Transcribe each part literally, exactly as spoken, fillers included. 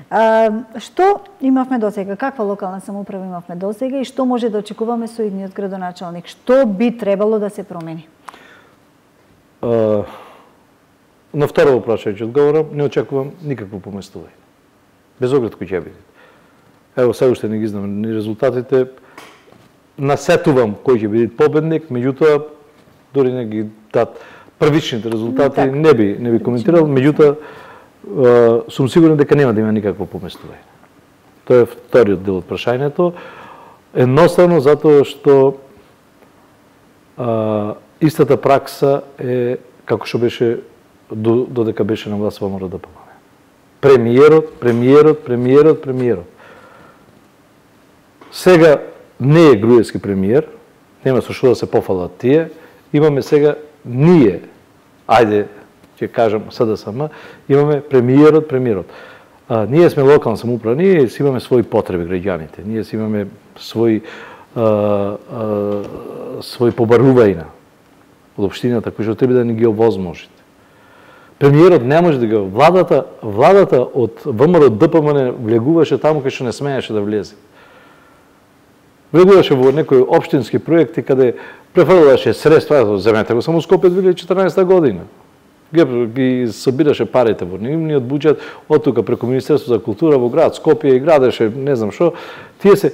Што имавме досега? Каква локална самоуправа имавме досега и што може да очекуваме со идниот градоначалник? Што би требало да се промени? Uh, на второ прашање ќе одговорам, не очекувам никакво поместување. Без оглед кој ќе биде. Ево, сега уште не ги знам ни резултатите. Насетувам кој ќе биде победник, меѓутоа дори не ги дат првичните резултати, так, не би не би коментирал, меѓутоа сум сигурен дека нема да има никакво поместување. Тоа е вториот дел од прашањето. Едноставно затоа што а, истата пракса е како што беше додека беше на власт во РДПМ. Премиерот, премиерот, премиерот, премиерот. Сега не е Груевски премиер, нема со што да се пофалат тие, имаме сега ние, ајде ќе кажам СДСМ, имаме премиерот, премиерот. А, ние сме локална самоуправа, ние си имаме своји потреби граѓаните, ние си имаме своји а, а, своји побарувања од општината кои што треба да ни ги овозможите. Премиерот не може да го владата, владата од ВМРО-ДПМ не влегуваше таму кај што не смееше да влезе. Влегуваше во некои општински проекти каде префрлаше средства, земете го само Скопје две илјади и четрнаесета година. Ги, ги собираше парите во нивниот буџет, од тука преку Министерство за култура во град Скопје и градеше, не знам што. Тие се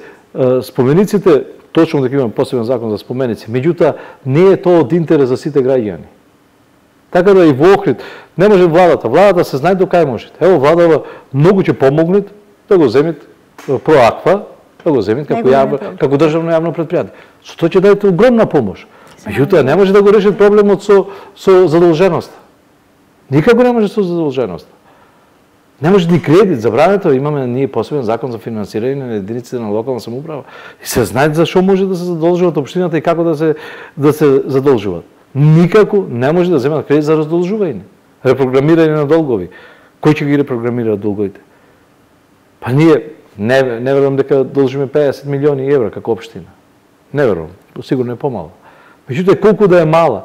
спомениците, точно дека имаме посебен закон за споменици, меѓутоа не е тоа од интерес за сите граѓани. Така да и во Охрид не може владата, владата се знае до кај можете. Ево владава многу ќе помогнат да го земет Проаква, да го земет како јавно, како државно јавно предпријатие. Со тоа ќе дадете огромна помош. Меѓутоа не може да го решат проблемот со со задолженоста. Никако не може со задолженоста. Не може ни кредит, забрането, имаме ние посебен закон за финансирање на единиците на локална самоуправа. И се знае за што може да се задолжуваат општината и како да се да се задолжуваат. Никако не може да земат кредит за раздолжување. Репрограмирање на долгови. Кој ќе ги репрограмира долговите? Па ние не, не верувам дека должиме педесет милиони евра како општина. Не верувам, сигурно е помало. Меѓутоа колку да е мала,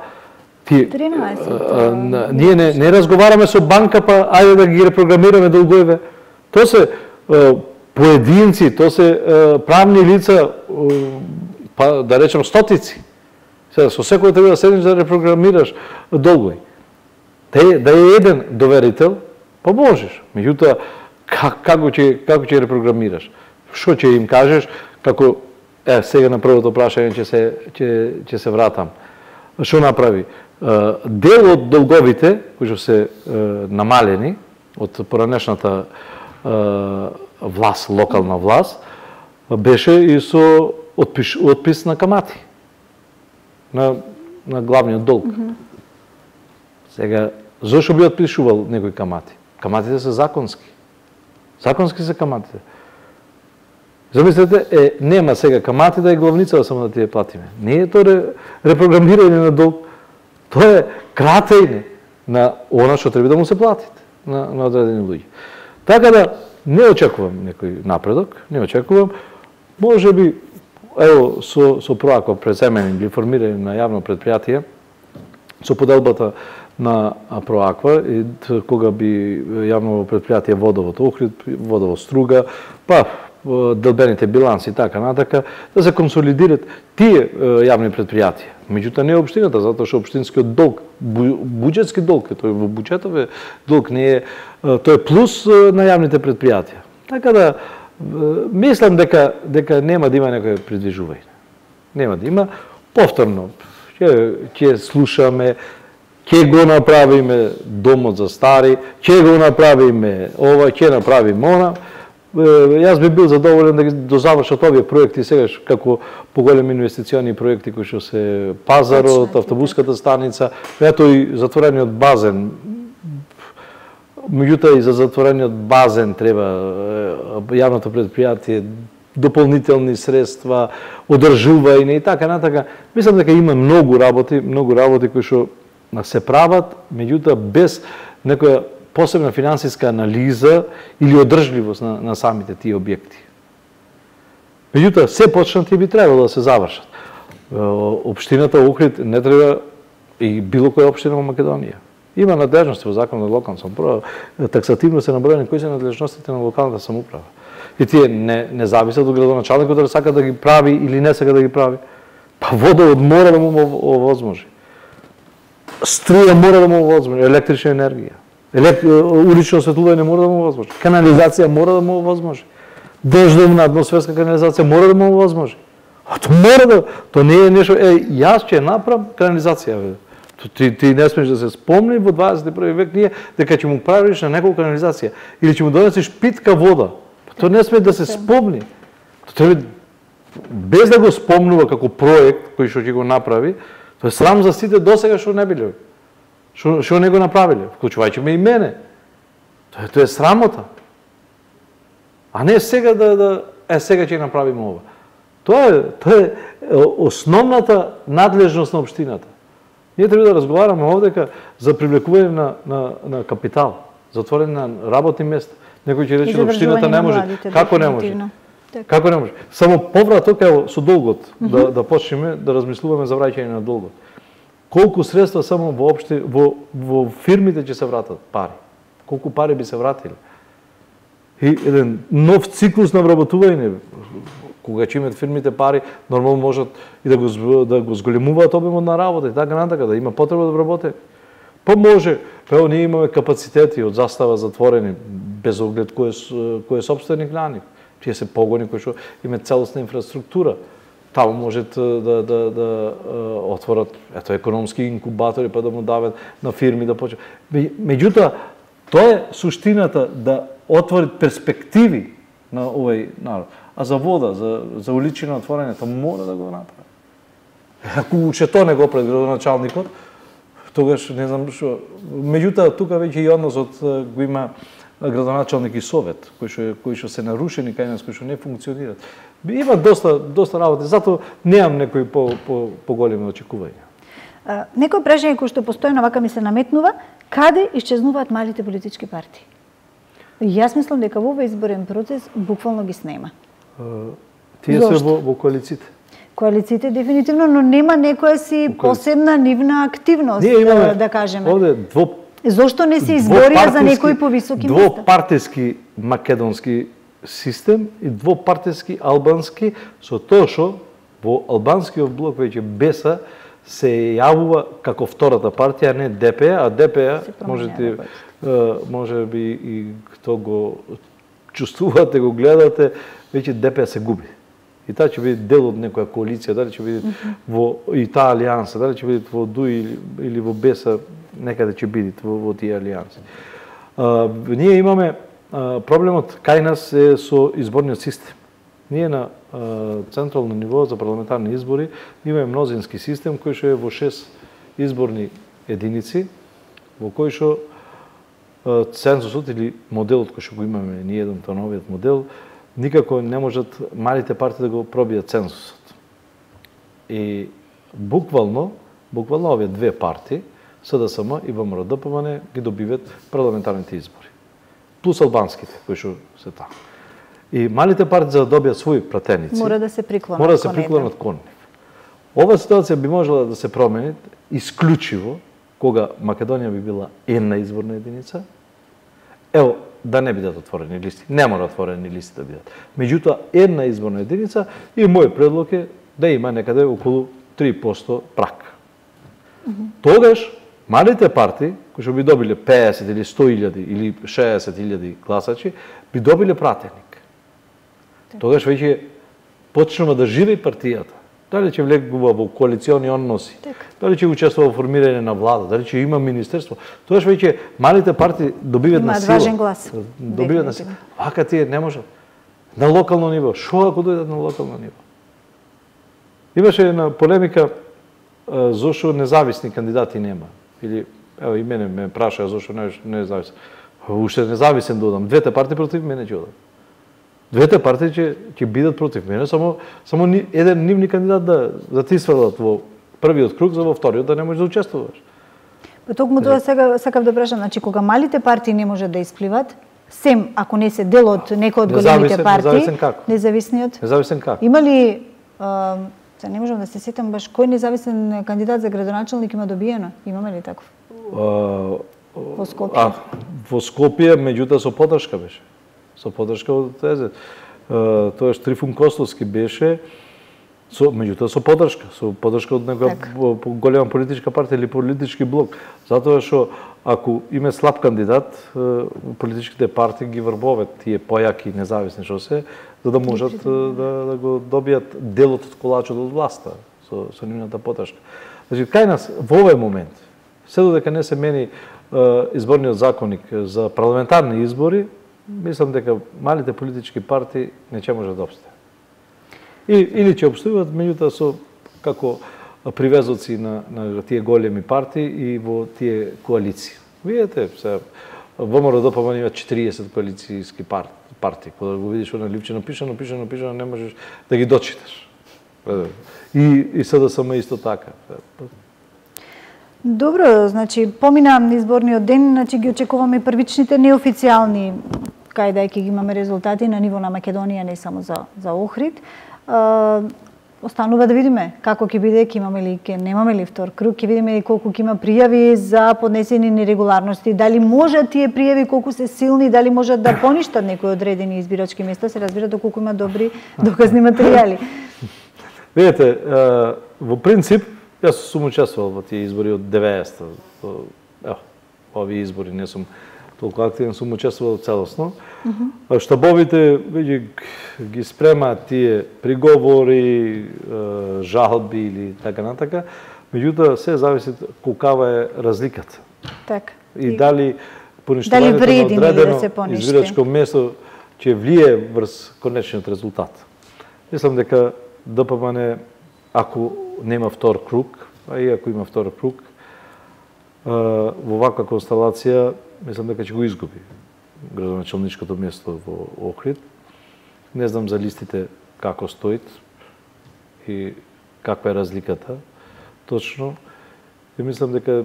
ти, тринаесет. А, а, ние не, не разговараме со банка, па ајде да ги репрограмираме долговите. Тоа се а, поединци, тоа се а, правни лица, а, па да речем стотици. Сега, со секој треба да седнеш да репрограмираш долгови. Да е, да е еден доверител, па можеш. Меѓутоа, как, како ќе како ќе репрограмираш? Што ќе им кажеш како е сега на првото прашање ќе се ќе ќе се вратам. Што направи? Дел од долговите кои што се намалени од поранешната власт, локална власт, беше и со отпис, отпис на камати на на главниот долг. Mm -hmm. Сега зошто би отпишувал некои камати? Каматите се законски. Законски се каматите. Замислете, е, нема сега камати да е главница само да тие платиме. Не е тоа репрограмирање на долг. Тоа е кратење на она што треба да му се платите на, на одредени луѓе. Така да не очекувам некој напредок, не очекувам. Може би, ево, со, со Проаква преземање или формирање на јавно предпријатие, со поделбата на Проаква, и кога би јавно предпријатие Водовод Охрид, Водовод Струга, па делбените биланси и така натака, да се консолидират тие јавни предпријатија. Меѓутоа не е општината, затоа што општинскиот долг, буџетски долг, тој во буџетов е долг, не е, тој е плюс на јавните предпријатија. Така да мислам дека дека нема да има некој придвижување. Нема да има. Повторно ќе ќе слушаме, ќе го направиме домот за стари, ќе го направиме ова, ќе направиме она. Јас би бил задоволен да ги дозавршат овие проекти сега како поголеми инвестициони проекти кои што се пазарот, автобуската станица, ето и затворениот базен. Меѓутоа и за затворениот базен треба јавното предпријатие дополнителни средства, одржување и така натака. Мислам дека има многу работи, многу работи кои што се прават, меѓутоа без некоја посебна финансиска анализа или одржливост на, на самите тие објекти. Меѓутоа, се почнати и би требало да се завршат. Општината Охрид не треба и било која општина во Македонија. Има надлежности во Законот за локална самоуправа, таксативно се наброени кои се надлежностите на локалната самоуправа. И тие не, не зависат од градоначалникот дали сака да ги прави или не сака да ги прави. Па водовод мора да му овозможи. Струја мора да му овозможи, електрична енергија. Елект... улично осветлување мора да му овозможи. Канализација мора да му овозможи. Дождовна атмосферска канализација мора да му овозможи. А тоа мора да, тоа не е нешто, е, јас ќе направам канализација. Ти, ти не смеш да се спомни во дваесет и први век ние дека ќе му правиш на некоја канализација или ќе му донесеш питка вода. Тоа не сме да се спомни. Тоа треба без да го спомнува како проект кој што ќе го направи, тоа е срам за сите досега што не биле. Што што не го направиле, вклучувајќи ме и мене. Тоа, тоа е срамота. А не сега да да е сега ќе направиме ова. Тоа е тоа е основната надлежност на општината. Ние треба да разговараме овдека за привлекување на на на капитал, за отворање на работни места. Некој ќе рече општината не може. Како не може? Како не може? Само повраток ево со долгот mm -hmm. да да почнеме да размислуваме за враќање на долгот. Колку средства само во општи во во фирмите ќе се вратат пари? Колку пари би се вратиле? И еден нов циклус на вработување, кога ќе имат фирмите пари, нормално можат и да го да го зголемуваат обемот на работа и така натака, да има потреба да вработи. Па може, па ние имаме капацитети од застава затворени без оглед кој е кој е сопственик на нив. Тие се погони кои што имаат целосна инфраструктура. Таму можат да да да отворат ето економски инкубатори па да му дават на фирми да почнат. Меѓутоа тоа е суштината да отвори перспективи на овој народ. А за вода, за за улично отворање, тоа мора да го направи. Ако уште тоа не го прави градоначалникот, тогаш не знам што. Меѓутоа тука веќе и односот го има градоначалник и совет, кои што кои што се нарушени кај нас, кои што не функционираат. Има доста доста работи, затоа немам некои по по поголеми очекувања. Некој прашање кој што постојано вака ми се наметнува, каде исчезнуваат малите политички партии? Јас мислам дека во овој изборен процес буквално ги снема. Тие се во, во коалициите. Коалициите дефинитивно, но нема некоја си посебна нивна активност, ние имаме, да кажеме. Овде дво Зошто не се изборија за некои повисоки места? Двопартиски македонски систем и двопартиски албански, со тоа што во албанскиот блок веќе Беса се јавува како втората партија, не ДП, а ДП можете може би и кто го чувствувате, го гледате, веќе ДП се губи. И таа ќе биде дел од некоја коалиција, дали ќе биде mm -hmm. во и таа алијанса, дали ќе биде во ДУИ или, или во Беса, некаде ќе биде во, во тие алијанси. А, ние имаме а, проблемот кај нас е со изборниот систем. Ние на а, централно ниво за парламентарни избори имаме мнозински систем кој што е во шест изборни единици, во кој што цензусот или моделот кој што го имаме ние еден новиот модел, никако не можат малите партии да го пробијат цензусот. И буквално, буквално овие две партии, СДСМ и ВМРО-ДПМН, ги добиват парламентарните избори. Плюс албанските, кои што се таму. И малите партии за да добијат своји пратеници, мора да се приклонат мора да се приклонат кон нив. Ова ситуација би можела да се промени исклучиво кога Македонија би била една изборна единица. Ево, да не бидат отворени листи. Не мора отворени листи да бидат. Меѓутоа, една изборна единица и мој предлог е да има некаде околу три проценти прак. Mm -hmm. Тогаш, малите партии, кои што би добиле песет или сто илјади или шеесет илјади гласачи, би добиле пратеник. Так. Тогаш веќе почнува да живе партијата. Дали ќе влегува во коалициони односи, так. Дали ќе учествува во формирање на влада, дали ќе има министерство. Тогаш веќе малите партии добиваат на сила. Имаат важен глас. Добиваат на сила. Вака тие не можат. На локално ниво. Шо ако дојдат на локално ниво? Имаше една полемика зошто независни кандидати нема. Или, ево и мене ме прашаа зошто не независен. Уште независен додам. Двете партии против мене ќе одат. Двете партии ќе ќе бидат против мене, само само ни, еден нивни кандидат да да ти свалат во првиот круг, за во вториот да не можеш да учествуваш. Па токму тоа сега сакав да прашам, значи кога малите партии не можат да испливат, сем ако не се дел од некој од големите партии, независен како? Независниот? Независен како? Има ли а, се не можам да се сетам баш кој независен кандидат за градоначалник има добиено? Имаме ли таков? во Скопје. А, во Скопје, меѓутоа со поддршка беше. Со поддршка од ТЗ. Тоа Трифун Костовски беше, со, меѓутоа со поддршка, со поддршка од некоја голема политичка партија или политички блок. Затоа што ако има слаб кандидат, политичките партии ги врбоват тие појаки независни што се, за да можат да, да го добијат делот од колачот од власта со, со нивната поддршка. Значи, кај нас во овој момент, се додека не се мени изборниот законник за парламентарни избори, мислам дека малите политички партии не ќе можат да обстојат. И, или ќе обстојуват, меѓутоа со како привезоци на, на тие големи партии и во тие коалиции. Видете, се ВМРО ДПМН има четириесет коалицијски партии. Кога го видиш она ливче напишано, напишано, напишано, не можеш да ги дочиташ. И, и СДСМ исто така. Добро, значи помина изборниот ден, значи ги очекуваме првичните неофицијални, кај да ќе ги имаме резултати на ниво на Македонија, не само за за Охрид. Uh, останува да видиме како ќе биде, ќе имаме ли, ќе немаме ли втор круг, ќе видиме ли колку ќе има пријави за поднесени нерегуларности, дали можат тие пријави колку се силни, дали можат да поништат некои одредени избирачки места, се разбира доколку има добри доказни материјали. Видете, во принцип, јас сум учествувал во тие избори од деветдесета. Ево, овие избори не сум толку активен, сум учествувал целосно. Uh -huh. Штабовите веќе ги спремаат тие приговори, жалби или така натака, меѓутоа се зависи колкава е разликата. Така. И, и дали поништувањето на одредено да избирачко место ќе влие врз конечниот резултат. Мислам дека ДПМН, ако нема втор круг, а и ако има втор круг, во ваква констелација, мислам дека ќе го изгуби градоначалничкото место во Охрид. Не знам за листите како стоит и каква е разликата точно. И мислам дека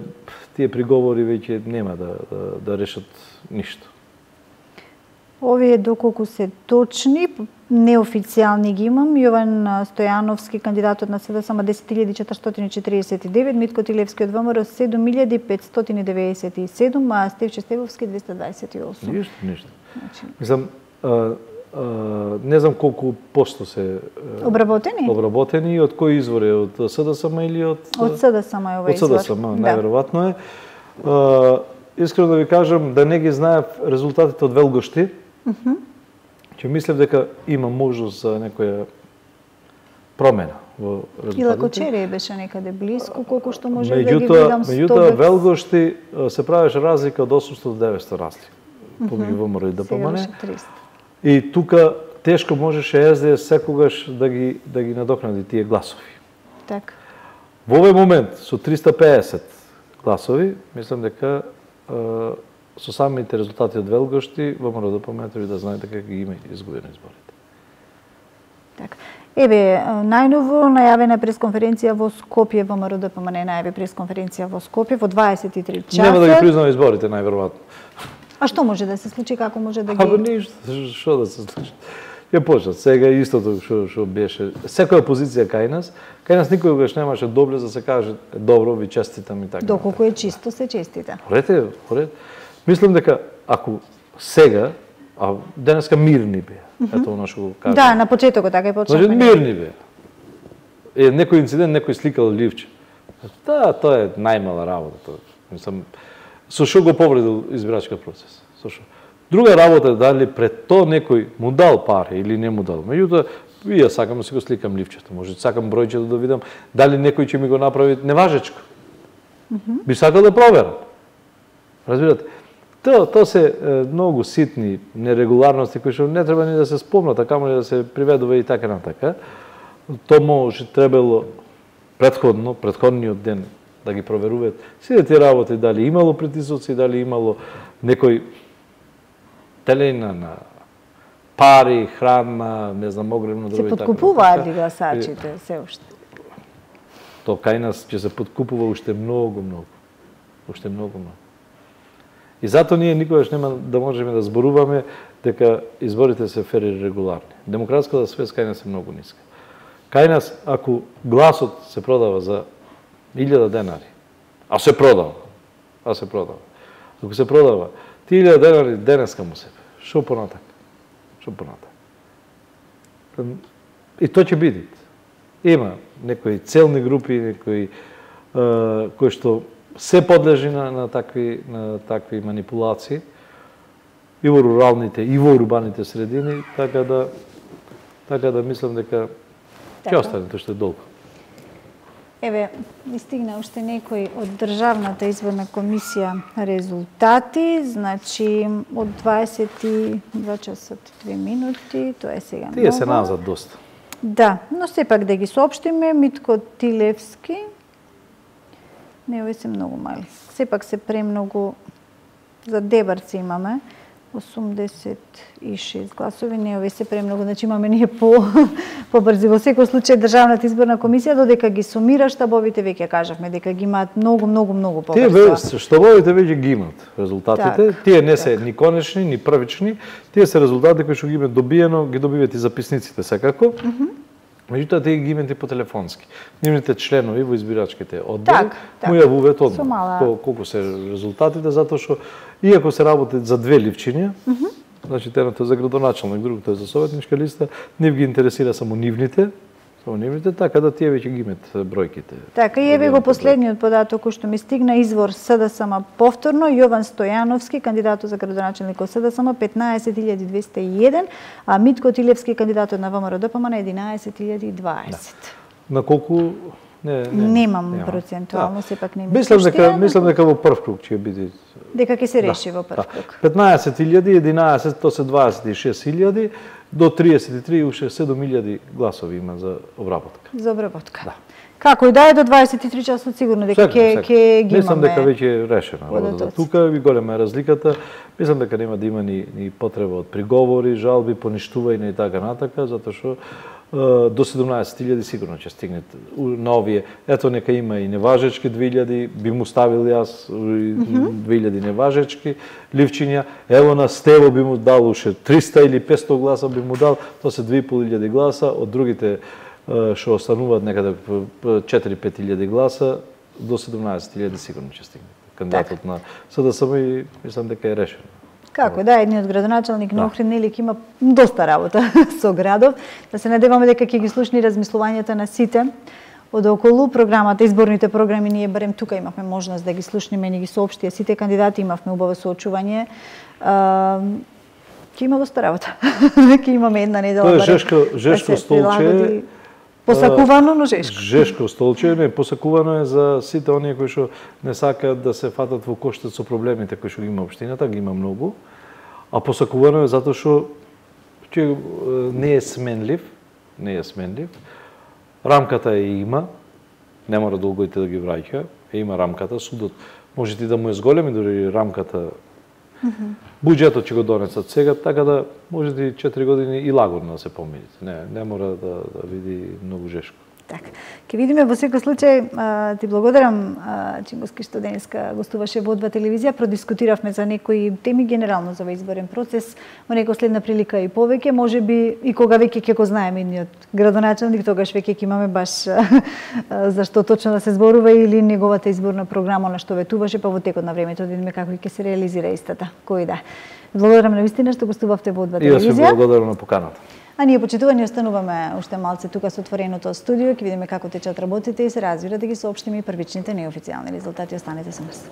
тие приговори веќе нема да, да, да решат ништо. Овие доколку се точни, неофицијални ги имам. Јован Стојановски, кандидатот на СДСМ десет илјади четиристотини четиридесет и девет, Митко Тилевски од ВМРО седум илјади петстотини деветдесет и седум, а Стевче Стевовски двеста дваесет и осум. Ништо, ништо. Значи... Мислам, а, а, не знам колку посто се обработени. Обработени и од кој извор е, од СДСМ или од Од СДСМ е овој извор. Од СДСМ, најверојатно е. А, искрено да ви кажам, да не ги знаев резултатите од Велгошти. Uh -huh. Ќе мислев дека има можност за некоја промена во резултатите. И Лакочерија беше некаде блиску, колку што може да ги видам сто. Меѓутоа, Велгошти се правеше разлика од осумстотини до деветстотини разлика помеѓу ВМРО и ДПМН. И тука тешко можеше СДС секогаш да ги да ги надокнади тие гласови. Така. Во овој момент со триста пеесет гласови, мислам дека со самите резултати од Велгошти, ВМРО ДПМН треба да знае дека ги има изгубени изборите. Така. Еве, најново најавена пресконференција во Скопје, ВМРО ДПМН најави пресконференција во Скопје во дваесет и три часа. Нема да ги признава изборите, најверојатно. А што може да се случи, како може да ги... Абе ништо, што да се случи. Ја почнат сега истото што што беше. Секоја позиција кај нас, кај нас никогаш немаше добле за да се каже добро, ви честитам и така. Доколку е чисто се честита. Порете, порете. Мислам дека ако сега, а денеска мирни беа, mm -hmm. ето оно што го кажа. Да, на почетокот така и почнавме. Значи мирни беа. Е некој инцидент, некој сликал ливче. Да, тоа е најмала работа, тоа. Мислам, со што го повредил избирачкиот процес? Со што? Друга работа е дали пред тоа некој му дал пари или не му дал. Меѓутоа, ја сакам да си го сликам ливчето. Може сакам бројчето да видам дали некој ќе ми го направи неважечко. Mm -hmm. Би сакал да проверам. Разбирате? Тоа то се е, многу ситни нерегуларности кои што не треба ни да се спомнат, а камо ли да се приведува и така натака. Тоа може требало претходно, претходниот ден да ги проверуваат сите тие работи, дали имало притисоци, дали имало некој телена на пари, храна, не знам, огромно други така. Се подкупуваат ли гласачите се уште? Тоа кај нас ќе се подкупува уште многу, многу. Уште многу, многу. И затоа ние никогаш нема да можеме да зборуваме дека изборите се фер и регуларни. Демократската свест кај нас е многу ниска. Кај нас, ако гласот се продава за илјада денари, а се продава, а се продава. Ако се продава три илјади денари денеска му себе, шо понатак? Шо понатак? И тоа ќе биде. Има некои целни групи, некои е, кои што се подлежи на, на такви на такви манипулации и во руралните и во урбаните средини, така да така да мислам дека ќе остане тоа што е долго. Еве, ми стигна уште некои од Државната изборна комисија резултати, значи од дваесет и два часа две минути, тоа е сега много. Тие се назад доста. Да, но сепак да ги соопштиме, Митко Тилевски, не, овие се многу мали. Сепак се премногу, за Дебарци имаме, осумдесет и шест гласови, не, овие се премногу, значи имаме ние по побрзи. Во секој случај Државната изборна комисија додека ги сумира штабовите, веќе кажавме дека ги имаат многу, многу, многу побрзо. Тие штабовите веќе ги имаат резултатите. Так, тие не се так. ни конечни, ни првични, тие се резултати кои што ги имаат добиено, ги добиваат и записниците секако. Mm -hmm. Меѓутоа тие ги имаат и по телефонски. Нивните членови во избирачките одбори так, так. му јавуваат одмah мала... колку се резултатите, затоа што иако се работи за две ливчиња, mm -hmm. значи едното е за градоначалник, другото е за советничка листа, нив ги интересира само нивните, само нивните, така да тие веќе ги имаат бројките. Така и еве го последниот податок кој што ми стигна, извор СДСМ повторно, Јован Стојановски, кандидатот за градоначалник од СДСМ петнаесет илјади двесте и еден, а Митко Тилевски, кандидатот на ВМРО-ДПМН на единаесет илјади дваесет. Да. На колку Не, не, Немам нема. процентуално, да. Сепак не ми мислам дека мислам дека во прв круг ќе биде. Дека ќе се реши да, во прв да. круг. петнаесет илјади, единаесет, тоа се дваесет и шест илјади, до триесет и три уште седум илјади гласови има за обработка. За обработка. Да. Како и да е до дваесет и три часот сигурно дека ќе ќе ги имаме. Мислам дека веќе е решена работата. Тука ви голема е разликата. Мислам дека нема да има ни, ни потреба од приговори, жалби, поништување и така натака, затоа што до седумнаесет илјади сигурно ќе стигнат на овие. Ето нека има и неважечки две илјади, би му ставил јас две илјади неважечки ливчиња. Ево на Стево би му дал уште триста или петсто гласа би му дал, тоа се две и пол илјади гласа, од другите што остануваат некаде четири-пет илјади гласа, до седумнаесет илјади сигурно ќе стигне. Кандидатот так. На СДСМ и мислам дека е решено. Како да, едниот градоначалник на Охрид нели има доста работа со градов. Да се надеваме дека ќе ги слушни размислувањата на сите од околу програмата, изборните програми. Ние барем тука имавме можност да ги слушниме, ни ги соопштија сите кандидати, имавме убаво соочување. Ќе има доста работа. Ќе имаме една недела барем. Тоа е жешко, жешко да столче. Посакувано, но жешко. Жешко столче, не, посакувано е за сите оние кои што не сакаат да се фатат во коштец со проблемите кои што ги има општината, ги има многу. А посакувано е затоа што че не е сменлив, не е сменлив. Рамката е има, не мора долгоите да ги враќа, е има рамката, судот може ти да му е зголеми, дори рамката. Mm-hmm. Буџетот ќе го донесат сега, така да може и четири години и лагодно да се помирите. Не, не мора да, да види многу жешко. Така. Ке видиме во секој случај. Ти благодарам, Чингуски, што денеска гостуваше во О два телевизија. Продискутиравме за некои теми генерално за овој изборен процес. Во некоја следна прилика и повеќе, можеби и кога веќе ќе го знаеме идниот градоначалник, тогаш веќе ќе имаме баш за што точно да се зборува или неговата изборна програма на што ветуваше, па во текот на времето да видиме како ќе се реализира истата. Кој да. Благодарам на вистина што гостувавте во О два телевизија. И јас ви благодарам на поканата. А ние, почитувани, остануваме уште малце тука со отвореното студио, ќе видиме како течат работите и се разбира да ги соопштиме и првичните неофицијални резултати. Останете со нас.